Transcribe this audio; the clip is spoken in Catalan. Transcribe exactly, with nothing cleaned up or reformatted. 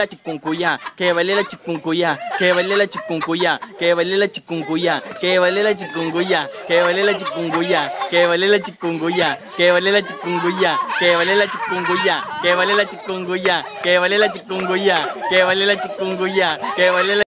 la chikungunya, que vale la chikungunya, que vale la chikungunya, que vale la chikungunya, que vale la chikungunya, que vale la chikungunya, que vale la chikungunya, que vale la chikungunya, que vale la chikungunya, que vale la chikungunya, que vale la chikungunya, que vale la chikungunya, que vale la